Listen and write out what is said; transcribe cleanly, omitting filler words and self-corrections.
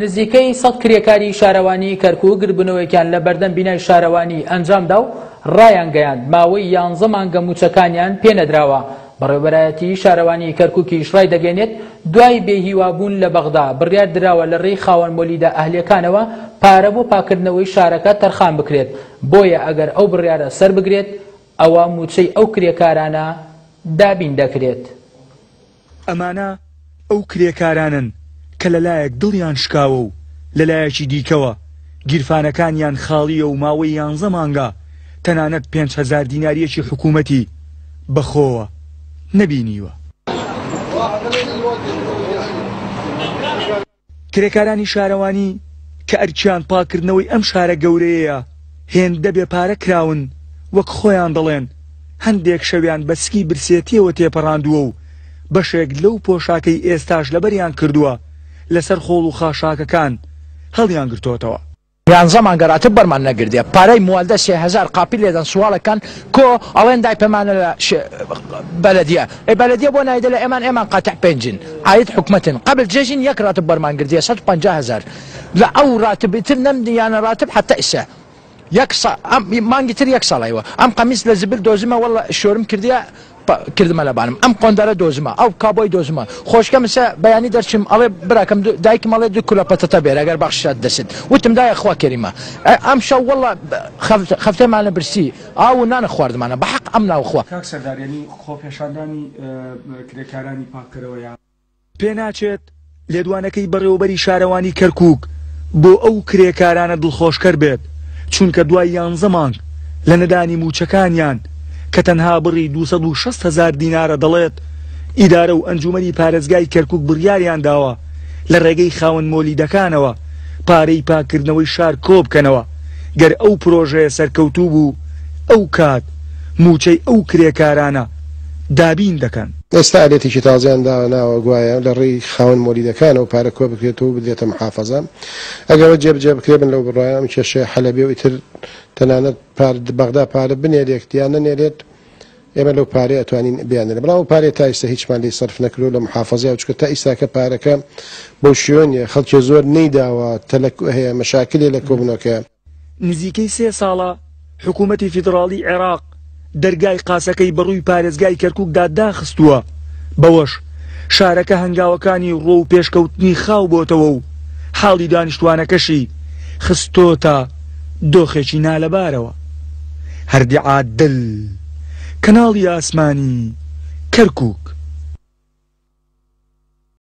نزیکەی سەد کرێکاری شارەوانیی کەرکووک گردبوونەوەیەکیان لە بەردەم بینای شارەوانی ئەنجامدا و ڕایانگەیاند، ماوەی یانزە مانگە مووچەکانیان پێنەدراوە. بەڕێوەبەرایەتیی شارەوانیی کەرکووکیش ڕایدەگەیەنێت، دوای بێهیوابوون لە بەغدا، بڕیار دراوە لە ڕێی خاوەن مۆلیدە ئەهلییەکانەوە پارە بۆ پاککردنەوەی شارەکە تەرخان بکرێت، بۆیە ئەگەر ئەو بڕیارە سەربگرێت، ئەوا مووچەی ئەو کرێکارانە دابین دەکرێت. ئەمانە ئەو کرێکارانەن کە لەلایەک دڵیان شکاوە و لەلایەکی دیکەوە گیرفانەکانیان خاڵییە و ماوەی یانزە مانگە تەنانەت 5000 دینارییەکی حکوومەتی بەخۆوە نەبینیوە. کرێکارانی شارەوانی کە ئەرکیان پاککردنەوەی ئەم شارە گەورەیەیە، هێندە بێ پارە کراون، وەک خۆیان دەڵێن، هەندێک شەویان بە سکی برسێتییەوە تێپەڕاندووە و بەشێک لەو پۆشاکەی ئێستاش لەبەریان کردووە، لەسەر خۆڵ و خاشاکەکان هەڵیانگرتۆتەوە. یانزە مانگە راتب بەرمان نەگردیە پارەی موالدە 3000 قاپی لێدەن سواڵەکان کۆ ئەڵێن دای پەمانە لە بەلەدیە ئەی بەلەدیە بۆ نایدە لە ئێمان ئێمان قاتع پێنجین عاید حکومەتن قبل جێژین یەک راتب بەرمان گردیە 150 هەزار لە ئەو راتب تر نەم یانە راتب حتا ئیسە یەک سا ئەم مانگی تر یەک ساڵ ئەیوە ئەم قەمیس لە زبل دۆزمە واللە شۆرم کردیە کردمە لەبانم ئەم قۆندەرە دۆزمە ئەو کابۆی دۆزمە خۆشکەم سە بەیانی دەرچم ئەڵێ براکەم دایکم ئەڵێ دوو کولە پەتەتە بێرە گەر بەخششات دەست وتم دایە خوا کەریمە ئەم شەو واللە خەفتەمانە برسی ئاو و نانە خواردمانە بە حەق ئەم ناو خوا. کاک سەردار یانی خۆپێشاندانی کرێکارانی پاککەرەوە یا. پێناچێت لێدوانەکەی بەڕێوەبەری شارەوانی کەرکوک بۆ ئەو کرێکارانە دڵخۆشکەر بێت، چونکە دوای یانزە مانگ لە نەدانی مووچەکانیان کە تەنها بڕی 260 هەزار دینارە دەڵێت ئیدارە و ئەنجومەنی پارێزگای کەرکوک بڕیاریانداوە لە ڕێگەی خاوەن مۆلیدەکانەوە پارەی پاککردنەوەی شار کۆبکەنەوە، گەر ئەو پرۆژەیە سەرکەوتوو بوو ئەو کات مووچەی ئەو کرێکارانە دابین دەکەن. ئێستا ئالێتێکی تازەیان داناوە گوایە لە ڕێی خاوەن مۆلیدەکانەوە پارە کۆبکرێتەوە و بدرێتە محافەزە. ئەگەر ئەوە جێبجێ بکرێت من لەو بڕوایەم ئەم کێشەیە حەل ئەبێ و ئیتر تەنانەت پار بەغدا پارە بنێرێت یان نەنێرێت ئێمە لەو پارەیە ئەتوانین بیاننێرین. بەڵام ئەو پارەیە تا ئیستا هیچمان لێی سەرف نەکردووە لە محافەزەیە چونکە تا ئیستاکە پارەکە بەو شێوە نییە خەڵکێ زۆر نەیداوە تەلەک هەیە مەشاکلێ لە کۆبوونەوەکەیە. نزیکەی سێ ساڵە حکوومەتی فیدڕاڵیی عێراق دەرگای قاسەکەی بەڕووی پارێزگای کەرکووکدا داخستووە، بەوەش شارەکە هەنگاوەکانی ڕووەو پێشکەوتنی خاو بۆتەوە و حاڵی دانیشتووانەکەشی خستۆتە دۆخێکی نالەبارەوە. هەردی عادل، کەناڵی ئاسمانی، کەرکووک.